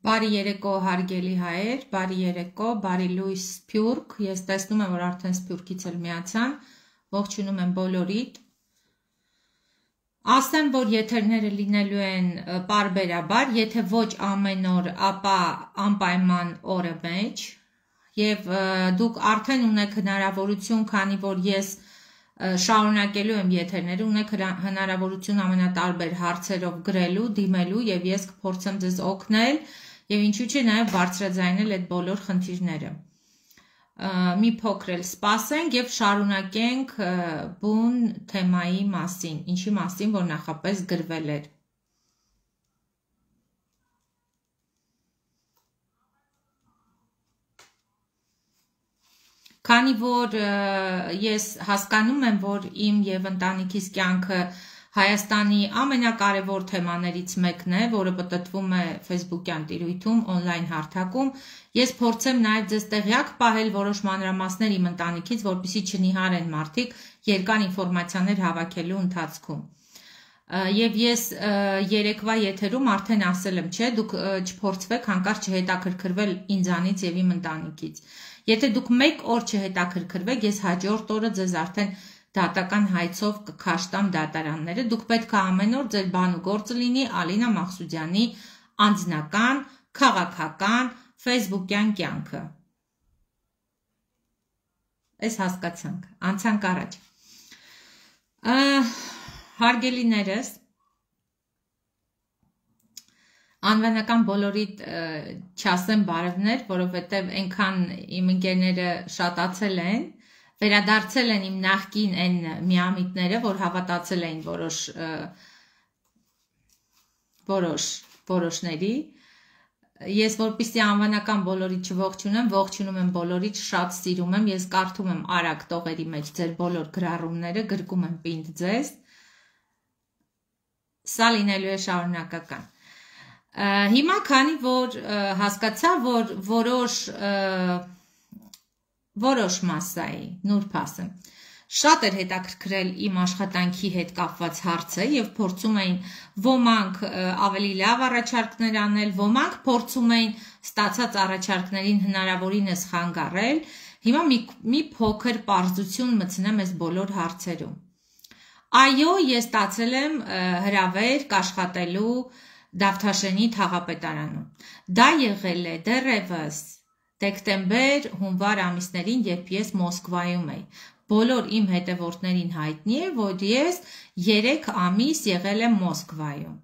Բարի երեկո հարգելի հայեր, բարի երեկո, բարի լույս Սփյուռք, ես տեսնում եմ, որ արդեն Սփյուռքից էլ միացան, ողջունում եմ բոլորիդ։ Ասեմ, որ եթերները լինելու են պարբերաբար, եթե ոչ ամեն օր, ապա անպայման օրը մեջ, եւ դուք արդեն ունեք հնարավորություն, քանի որ ես շարունակելու եմ եթերները, ունեք հնարավորություն ամենատարբեր հարցերով գրելու, դիմելու եւ ես կփորձեմ ձեզ օգնել եւ ինչու՞ չէ նաեւ բարձրաձայնել այդ բոլոր խնդիրները։ Մի փոքր էլ սպասենք եւ շարունակենք բուն թեմայի մասին, ինչի մասին որ նախապես գրվել էր։ Քանի որ ես հասկանում եմ, որ իմ եւ ընտանիքիս կյանքը Հայաստանի ամենակարևոր թեմաներից մեկն է, որը պատտվում է Facebook-յան տիրույթում, on-line հարթակում, ես փորձեմ նաև ձեզ տեղյակ պահել որոշ մանրամասներ իմ ընտանիքից, որպեսզի չնիհարեն մարդիկ երկար ինֆորմացիաներ հավաքելու ընթացքում։ Եվ ես երեկվա եթերում արդեն ասել եմ, չէ, դուք չփորձվեք հանկարծ չհետաքրքրվել ինձանից եւ իմ ընտանիքից։ Եթե դուք մեկ օր չհետաքրքրվեք, ես հաջորդ օրը ձեզ արդեն դատական հայցով կքաշտամ դատարանները, դուք պետք է ամեն օր ձեր բան ու գործը լինի Ալինա Մաղսուդյանի անձնական, քաղաքական, Facebook-յան կյանքը։ Այս հասկացանք, անցանք առաջ։ Հարգելիներս, անվանական բոլորիդ չասեմ բարևներ, որովհետև այնքան իմ ընկերները շատացել են, վերադարձել են իմ նախկին այն միամիտները, որ հավատացել էին որոշների, ես որպեսզի անվանական բոլորիդ չողջունեմ, ողջունում եմ բոլորիդ, շատ սիրում եմ, ես կարդում եմ արագ տողերի մեջ ձեր բոլոր գրառումները, գրկում եմ պինդ ձեզ, սա լինելու է շարունակական։ Հիմա քանի որ հասկացա, որ որոշ մասայի, նուրբ ասեմ, շատ էր հետաքրքրել իմ աշխատանքի հետ կապված հարցը եւ փորձում էին ոմանք ավելի լավ առաջարկներ անել, ոմանք փորձում էին ստացած առաջարկներին հնարավորինս խանգարել, հիմա մի փոքր պարզություն մտցնեմ այս բոլոր հարցերում։ Այո, ես ստացել եմ հրավեր կաշխատելու Դավթաշենի թաղապետարանում։ Դա եղել է դեռևս դեկտեմբեր, հունվար ամիսներին, երբ ես Մոսկվայում էի։ Բոլոր իմ հետևորդներին հայտնի է, որ ես 3 ամիս եղել եմ Մոսկվայում։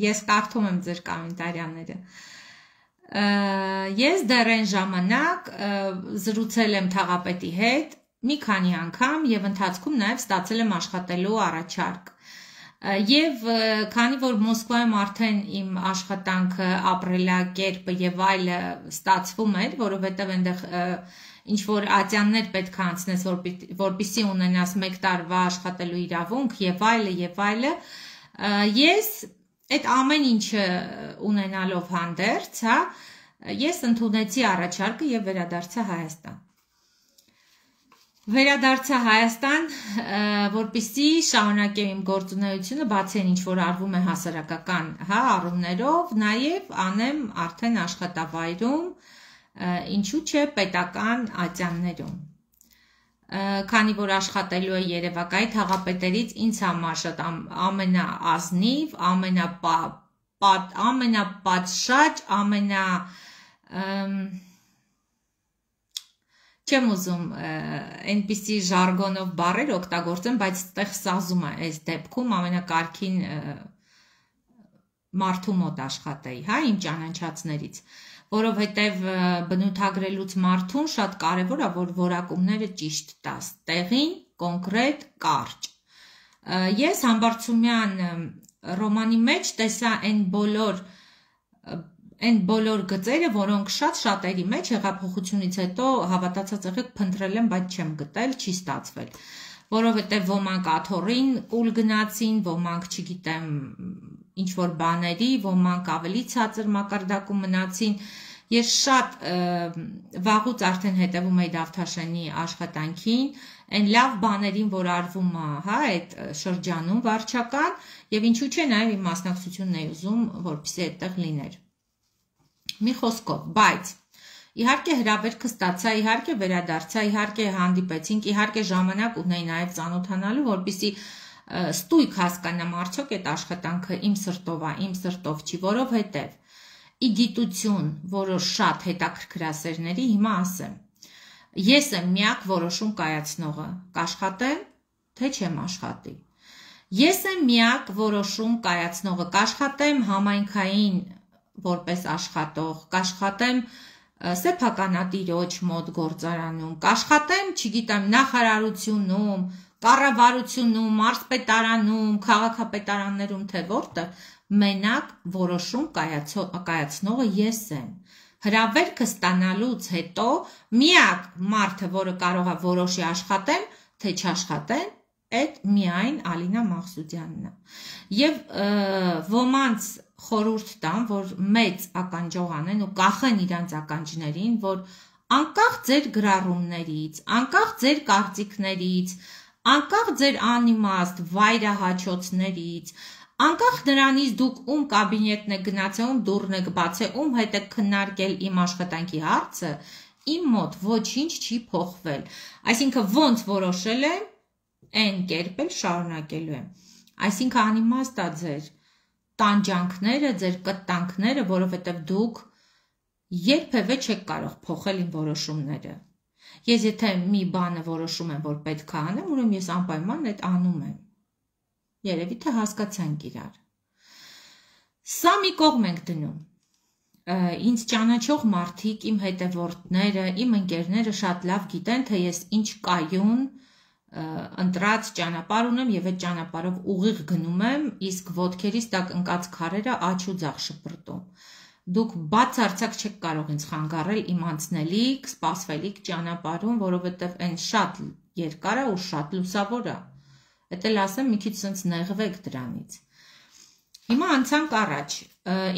Ես կարդում եմ ձեր կոմենտարյաները։ Ես դեռ այն ժամանակ զրուցել եմ թաղապետի հետ մի քանի անգամ եւ ընթացքում նաեւ ստացել եմ աշխատելու առաջարկ։ Եվ քանի որ Մոսկվայում արդեն իմ աշխատանքը, ապրելակերպը եւ այլը ստացվում էր, որովհետեւ այնտեղ ինչ որ ատյաններ պետք է անցնես, որպեսզի ունենաս 1 տարվա աշխատելու իրավունք եւ այլը, ես այդ ամեն ինչը ունենալով հանդերձ, հա, ես ընդունեցի առաջարկը եւ վերադարձա Հայաստան։ Վերադարձա Հայաստան, որպեսզի շարունակեմ իմ գործունեությունը, բացի այն ինչ որ արվում է հասարակական, հա, առումներով, նաև անեմ արդեն աշխատավայրում, ինչու՞ չէ պետական ատյաններում։ Քանի որ աշխատելու է Երևակայի թաղապետերից ինձ համար շատ ամենաազնիվ, ամենապատշաճ, չեմ ուզում այնպիսի ժարգոնով բառեր օգտագործեմ, բայց այդտեղ սազում է այս դեպքում ամենակարգին մարդու մոտ աշխատեի, հա, իմ ճանաչածներից, որովհետև բնութագրելուց մարդուն շատ կարևոր է, որ որակումները ճիշտ տաս, տեղին, կոնկրետ, կարճ։ Ես Համբարձումյան ռոմանի մեջ տեսա այն բոլոր գծերը, որոնք շատերի մեջ հեղափոխությունից հետո հավատացած եղեք փնտրել եմ, բայց չեմ գտել, չի ստացվել, որովհետև ոմանք աթոռին կուլ գնացին, ոմանք չգիտեմ ինչ որ բաների, ոմանք ավելի ցածր մակարդակում մնացին, ես շատ վաղուց արդեն հետևում էի Դավթաշենի աշխատանքին, այն լավ բաներին, որ արվում է, հա, այդ շրջանում վարչական, եւ ինչու՞ չէ նաեւ իմ մասնակցությունն է ուզում, որպեսզի այդտեղ լիներ։ Մի խոսքով, բայց իհարկե հրավերքը ստացա, իհարկե վերադարձա, իհարկե հանդիպեցինք, իհարկե ժամանակ ունեի նաեւ ծանոթանալու, որպեսզի ստույգ հասկանամ արդյոք այդ աշխատանքը իմ սրտով է, իմ սրտով չի, որովհետեւ ի գիտություն որոշ շատ հետաքրքրասերների հիմա ասեմ, ես եմ միակ որոշում կայացնողը, կաշխատեմ, թե չեմ աշխատի։ Ես եմ միակ որոշում կայացնողը, կաշխատեմ համայնքային որպես աշխատող, կաշխատեմ սեփականատիրոջ մոտ գործարանում, կաշխատեմ, չգիտեմ, նախարարությունում, կառավարությունում, մարզպետարանում, քաղաքապետարաններում, թե որտեղ մենակ որոշում կայացնողը ես եմ։ Հրավերքը ստանալուց հետո միակ մարդը, որը կարող է որոշի աշխատեմ, թե չաշխատեմ, այդ միայն Ալինա Մաղսուդյանն է։ Եվ ոմանց խորհուրդ տամ, որ մեծ ականջող անեն ու կախեն իրանց ականջներին, որ անկախ ձեր գրառումներից, անկախ ձեր կարծիքներից, անկախ ձեր անիմաստ վայրահաչոցներից, անկախ նրանից դուք ում կաբինետն եք գնացել, ում դուռն եք բացել, ում հետ եք քննարկել իմ աշխատանքի հարցը, իմ մոտ ոչինչ չի փոխվել։ Այսինքն ոնց որոշել եմ, այն կերպ էլ շարունակելու եմ։ Այսինքն անիմաստ է ձեր տանջանքները, ձեր կտանքները, որովհետև դուք երբևէ չեք կարող փոխել իմ որոշումները։ Ես եթե մի բանը որոշում եմ, որ պետք է անեմ, ուրեմն ես անպայման այդ անում եմ։ Երևի թե հասկացանք իրար։ Սա մի կողմ ենք դնում։ Ինձ ճանաչող մարդիկ, իմ հետևորդները, իմ ընկերները շատ լավ գիտեն, թե ես ինչ կայուն ընտրած ճանապարհ ունեմ եւ այդ ճանապարհով ուղիղ գնում եմ, իսկ ոտքերիս տակ ընկած քարերը աջ ու ձախ շպրտում։ Դուք բացարձակ չեք կարող ինձ խանգարել իմ անցնելիք, սպասվելիք ճանապարհում, որովհետեւ այն շատ երկար է ու շատ լուսավոր է։ Էդ էլ ասեմ, մի քիչ sense նեղվեք դրանից։ Հիմա անցանք առաջ։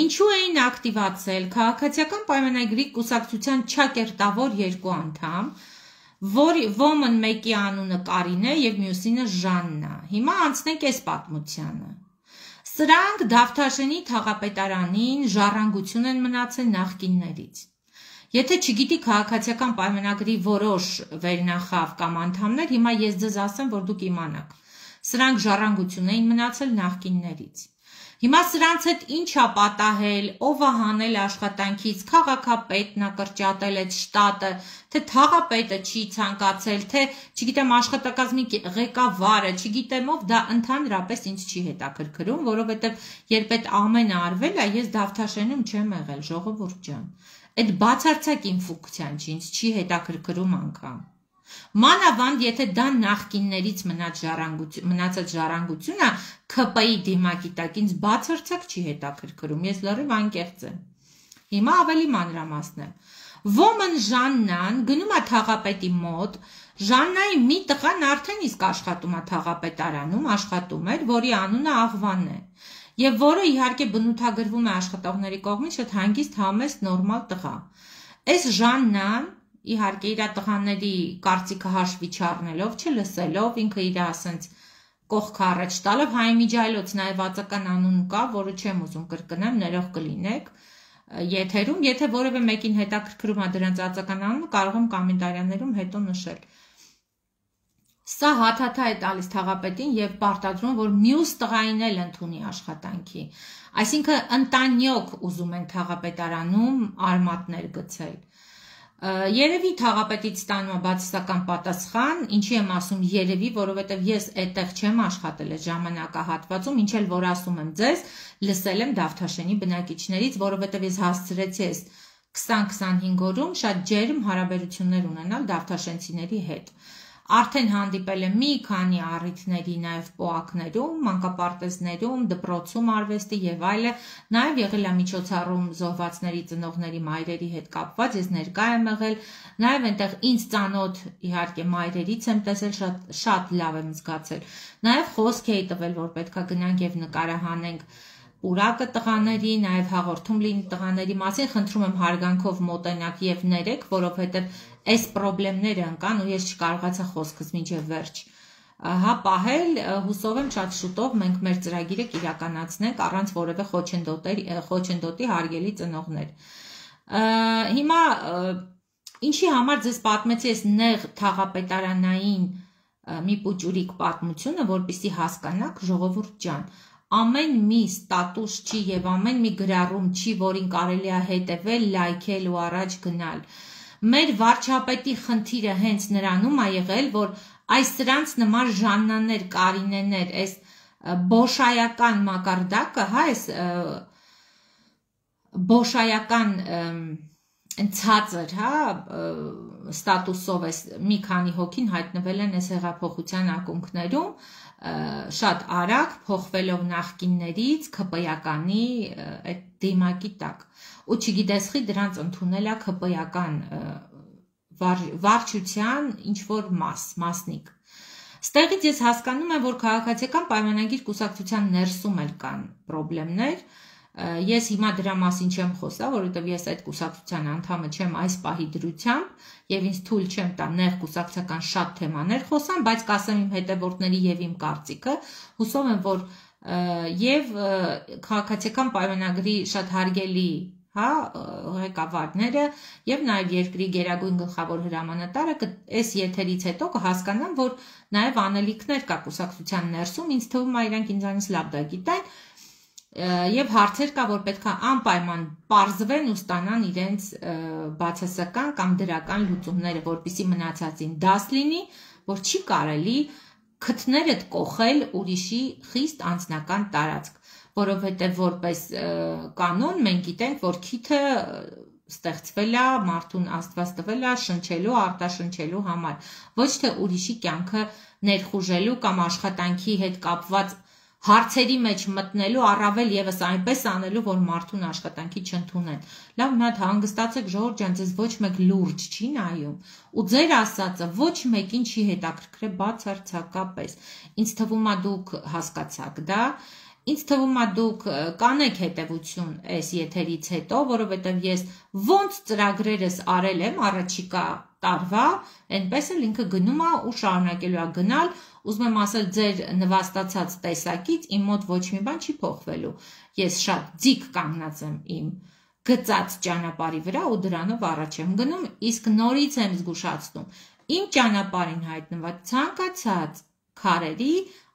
Ինչու էին ակտիվացել քաղաքացիական պայմանագրի կուսակցության չակերտավոր երկու անդամ, ոմն մեկի անունը Կարին է եւ մյուսինը Ժաննա։ Հիմա անցնենք այս պատմությանը։ Սրանք Դավթաշենի թաղապետարանին ժառանգություն են մնացել նախկիններից։ Եթե չգիտի քաղաքացիական պայմանագրի որոշ վերնախավ կամ անդամներ, հիմա ես ձեզ ասեմ, որ դուք իմանաք։ Սրանք ժառանգություն էին մնացել նախկիններից։ Հիմա սրանց հետ ինչ է պատահել, ով է հանել աշխատանքից, քաղաքապետն է կրճատել այդ շտատը, թե թաղապետը չի ցանկացել, թե, չգիտեմ, աշխատակազմի ղեկավարը, չգիտեմ ով, դա ընդհանրապես ինձ չի հետաքրքրում, որովհետև երբ այդ ամենը արվել է, ես Դավթաշենում չեմ եղել, ժողովուրդ ջան։ Այդ բացարձակ իմ ֆունկցիան չի, ինձ չի հետաքրքրում անգամ։ Մանավանդ եթե դա նախկիններից մնացած ժառանգություն է, ՔՊ-ի դիմակի տակ ինձ բացարձակ չի հետաքրքրում, ես լրիվ անկեղծ եմ։ Հիմա ավելի մանրամասնեմ։ Ոմն Ժաննան գնում է թաղապետի մոտ, Ժաննայի մի տղան արդեն իսկ աշխատում է թաղապետարանում, աշխատում էր, որի անունը Աղվան է, եւ որը իհարկե բնութագրվում է աշխատողների կողմից շատ հանգիստ, համեստ, նորմալ տղա։ Այս Ժաննան իհարկե իր տղաների կարծիքը հաշվի չառնելով, չլսելով, ինքը իր ասենց կողքը առաջ տալով Հայ Միջայլոց նաև վածական անուն կա, որը չեմ ուզում կրկնեմ, ներող կլինեք եթերում, եթե որևէ մեկին հետաքրքրում է դրանց վածական անունը, կարող եմ կոմենտարիաներում հետո նշել։ Սա հաթաթա է տալիս թաղապետին եւ պարտադրում, որ մյուս տղային էլ ընդունի աշխատանքի։ Այսինքն ընտանյոք ուզում են թաղապետարանում արմատներ գցել։ Երևի թաղապետից ստանում է բացասական պատասխան, ինչի եմ ասում երևի, որովհետև ես այդտեղ չեմ աշխատել այդ ժամանակահատվածում, ինչ էլ որ ասում եմ ձեզ, լսել եմ Դավթաշենի բնակիչներից, որովհետև ես հասցրեցի այս 20-25 օրում շատ ջերմ հարաբերություններ ունենալ դավթաշենցիների հետ։ Արդեն հանդիպել եմ մի քանի առիթների նաև պոակներում, մանկապարտեզներում, դպրոցում արվեստի եւ այլը, նաև եղել է միջոցառում զոհվածների ծնողների մայրերի հետ կապված, ես ներկա եմ եղել, նաև այնտեղ ինձ ծանոթ իհարկե մայրերից եմ տեսել, շատ լավ եմ զգացել։ Նաև խոսք էի տվել, որ պետքա գնանք եւ նկարահանենք պուրակը տղաների, նաև հաղորդում լինի տղաների մասին, խնդրում եմ հարգանքով մոտենաք եւ ներեք, որովհետեւ այս խնդիրները ընկան ու ես չկարողացա խոսքս մինչև վերջ պահել, հուսով եմ շատ շուտով մենք մեր ծրագիրը կիրականացնենք առանց որևէ խոչընդոտի հարգելի ծնողներ։ Հիմա ինչի համար ձեզ պատմեցի այս նեղ թաղապետարանային մի պուճուրիկ պատմությունը, որպեսզի հասկանաք, ժողովուրդ ջան, ամեն մի ստատուս չի եւ ամեն մի գրառում չի, որին կարելի է հետևել, լայքել ու առաջ գնալ։ Մեր վարչապետի խնդիրը հենց նրանում է եղել, որ այս սրանց նման Ժաննաներ, Կարինեներ, այս բոշայական մակարդակը, հա, այս բոշայական ցածր, հա, ստատուսով այս մի քանի հոգին հայտնվել են այս հեղափոխության ակունքներում, շատ արագ փոխվելով նախկիններից ԿՊ-ականի այդ դիմակի տակ։ Ու չգիտես խի դրանց ընդունել է ԿՊ-ական վարչության ինչ-որ մասնիկ։ Ստեղից ես հասկանում եմ, որ քաղաքացիական պայմանագիր կուսակցության ներսում էլ կան պրոբլեմներ։ Ես հիմա դրա մասին չեմ խոսա, որովհետև ես այդ կուսակցության անդամը չեմ այս պահի դրությամբ եւ ինձ թույլ չեմ տա նեղ կուսակցական շատ թեմաներ խոսամ, բայց կասեմ իմ հետևորդների եւ իմ կարծիքը, հուսով եմ, որ եւ քաղաքացիական պայմանագրի շատ հարգելի, հա, ղեկավարները եւ նաեւ երկրի գերագույն գլխավոր հրամանատարը այս եթերից հետո կհասկանան, որ նաեւ անելիքներ կա կուսակցության ներսում, ինձ թվում է իրանք ինձանից լավ դա գիտեն, եւ հարցեր կա, որ պետք է անպայման պարզվեն ու ստանան իրենց բացասական կամ դրական լուծումները, որպեսզի մնացածին դաս լինի, որ չի կարելի քթներդ կողել ուրիշի խիստ անձնական տարածք, որովհետև որպես կանոն մենք գիտենք, որ քիթը ստեղծվել է, մարդուն Աստված տվել է շնչելու, արտաշնչելու համար, ոչ թե ուրիշի կյանքը ներխուժելու կամ աշխատանքի հետ կապված հարցերի մեջ մտնելու, առավել եւս այնպես անելու, որ մարդուն աշխատանքի չընդունեն։ Լավ, մի հատ հանգստացեք, ժողովուրդ ջան, ձեզ ոչ մեկ լուրջ չի նայում, ու ձեր ասածը ոչ մեկին չի հետաքրքրել բացարձակապես։ Ինձ թվում է դուք հասկացաք դա, ինձ թվում է դուք կանեք հետևություն այս եթերից հետո, որովհետև ես ոնց ծրագրերս արել եմ առաջիկա տարվա, այնպես էլ ինքը գնում է ու շարունակելու է գնալ, ուզում եմ ասել ձեր նվաստացած տեսակից իմ մոտ ոչ մի բան չի փոխվելու։ Ես շատ ձիգ կանգնած եմ իմ գծած ճանապարհի վրա ու դրանով առաջ եմ գնում, իսկ նորից եմ զգուշացնում, իմ ճանապարհին հայտնված ցանկացած քարերի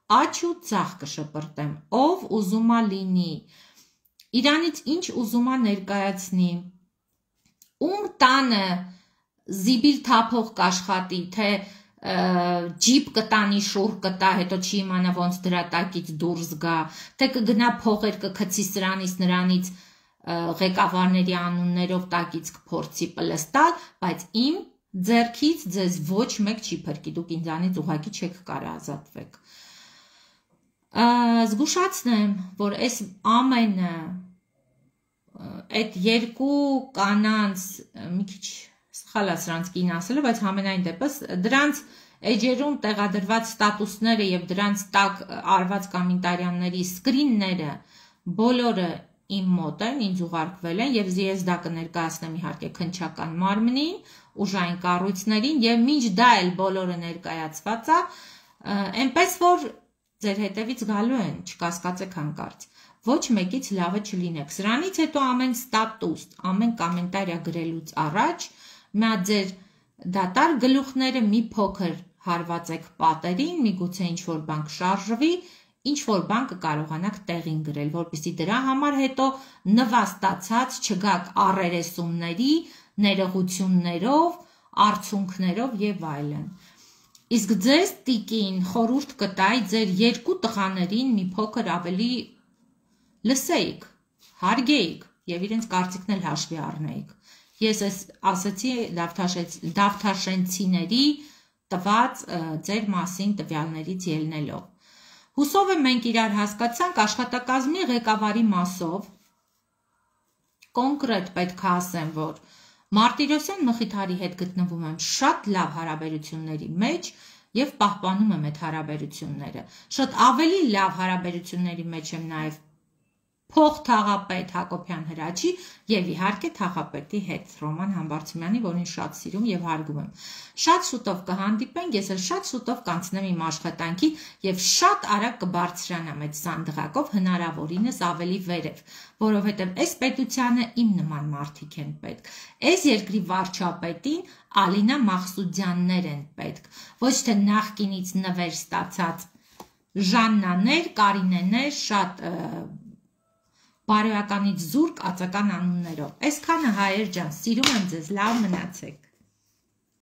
աջ ու ցախ կշպրտեմ, ով ուզում է լինի, իրանից ինչ ուզում է ներկայացնի, ում տանը զիբիլ թափող կաշխատի, թե ջիպ կտանի, շուռ կտա, հետո չի իմանա ոնց դրա տակից դուրս գա, թե կգնա փողեր կգցի սրանից նրանից ղեկավարների անուններով տակից կփորձի պլստալ, բայց իմ ձեռքից ձեզ ոչ մեկ չի փրկի, դուք ինձանից ուղղակի չեք կարող ազատվեք։ Զգուշացնեմ, որ այս ամենը այդ երկու կանանց մի քիչ սխալ է սրանց կին ասելը, բայց համենայն դեպս դրանց էջերում տեղադրված ստատուսները եւ դրանց տակ արված կոմենտարյանների սկրինները բոլորը իմ մոտ են, ինձ ուղարկվել են եւ ես դա կներկայացնեմ իհարկե քննչական մարմնին, ուժային կառույցներին եւ մինչ դա էլ բոլորը ներկայացված է, այնպես որ ձեր հետևից գալու են, չկասկածեք հանկարծ, ոչ մեկից լավը չլինեք։ Սրանից հետո ամեն ստատուս, ամեն կոմենտարիա գրելուց առաջ մա ձեր դատար գլուխները մի փոքր հարվածեք պատերին, միգուցե ինչ-որ բան կշարժվի, ինչ-որ բան կկարողանաք տեղին գրել, որպեսզի դրա համար հետո նվաստացած չգաք առերեսումների, ներողություններով, արդյունքներով եւ այլն։ Իսկ ձեզ տիկին խորհուրդ կտայի ձեր երկու տղաներին մի փոքր ավելի լսեիք, հարգեիք եւ իրենց կարծիքն էլ հաշվի առնեիք։ Ես ասացի դավթաշենցիների տված ձեր մասին տվյալներից ելնելով։ Հուսով եմ մենք իրար հասկացանք աշխատակազմի ղեկավարի մասով, կոնկրետ պետք է ասեմ, որ Մարտիրոսյան Մխիթարի հետ գտնվում եմ շատ լավ հարաբերությունների մեջ եւ պահպանում եմ այդ հարաբերությունները։ Շատ ավելի լավ հարաբերությունների մեջ եմ նաեւ փոխթաղապետ Հակոբյան Հրաչի եւ իհարկե թաղապետի հետ Ռոման Համբարձումյանի, որին շատ սիրում եւ հարգում եմ։ Շատ շուտով կհանդիպենք, ես էլ շատ շուտով կանցնեմ իմ աշխատանքի եւ շատ արագ կբարձրանամ այդ սանդղակով հնարավորինս ավելի վերև, որովհետեւ այս պետությանը իմ նման մարդիկ են պետք։ Այս երկրի վարչապետին Ալինա Մաղսուդյաններ են պետք, ոչ թե նախկինից նվեր ստացած Ժաննաներ, Կարինեներ, շատ բարոյականից զուրկ ածական անուններով։ Այսքանը հայեր ջան, սիրում եմ ձեզ, լավ մնացեք։